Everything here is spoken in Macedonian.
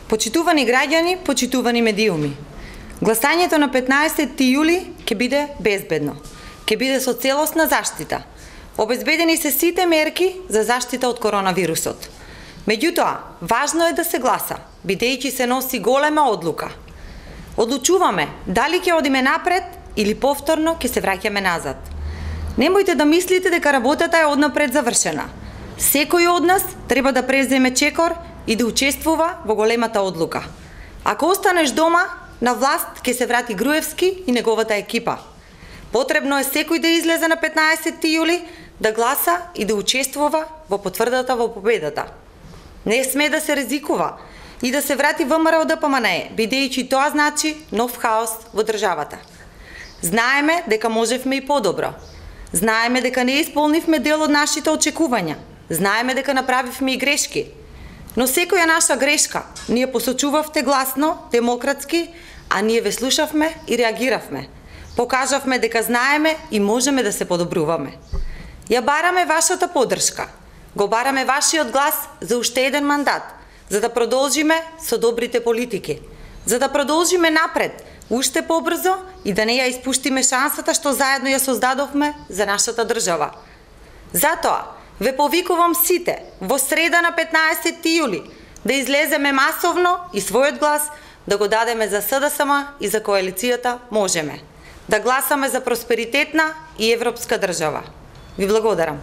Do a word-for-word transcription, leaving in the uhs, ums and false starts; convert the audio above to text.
Почитувани граѓани, почитувани медиуми. Гласањето на петнаесетти јули ќе биде безбедно. Ќе биде со целосна заштита. Обезбедени се сите мерки за заштита од коронавирусот. Меѓутоа, важно е да се гласа, бидејќи се носи голема одлука. Одлучуваме дали ќе одиме напред или повторно ќе се враќаме назад. Немојте да мислите дека работата е однапред завршена. Секој од нас треба да преземе чекор и да учествува во големата одлука. Ако останеш дома, на власт ќе се врати Груевски и неговата екипа. Потребно е секој да излезе на петнаесетти јули, да гласа и да учествува во потврдата во победата. Не сме да се ризикува и да се врати ВМРО Д П М Н Е, бидејќи тоа значи нов хаос во државата. Знаеме дека можевме и подобро. Знаеме дека не исполнивме дел од нашите очекувања. Знаеме дека направивме и грешки. Но секоја наша грешка ние посочувавте гласно, демократски, а ние ве слушавме и реагиравме. Покажавме дека знаеме и можеме да се подобруваме. Ја бараме вашата поддршка. Го бараме вашиот глас за уште еден мандат, за да продолжиме со добрите политики, за да продолжиме напред, уште побрзо и да не ја испуштиме шансата што заедно ја создадовме за нашата држава. Затоа, ве повикувам сите во среда на петнаесетти јули да излеземе масовно и својот глас да го дадеме за С Д С М и за коалицијата Можеме. Да гласаме за просперитетна и европска држава. Ви благодарам.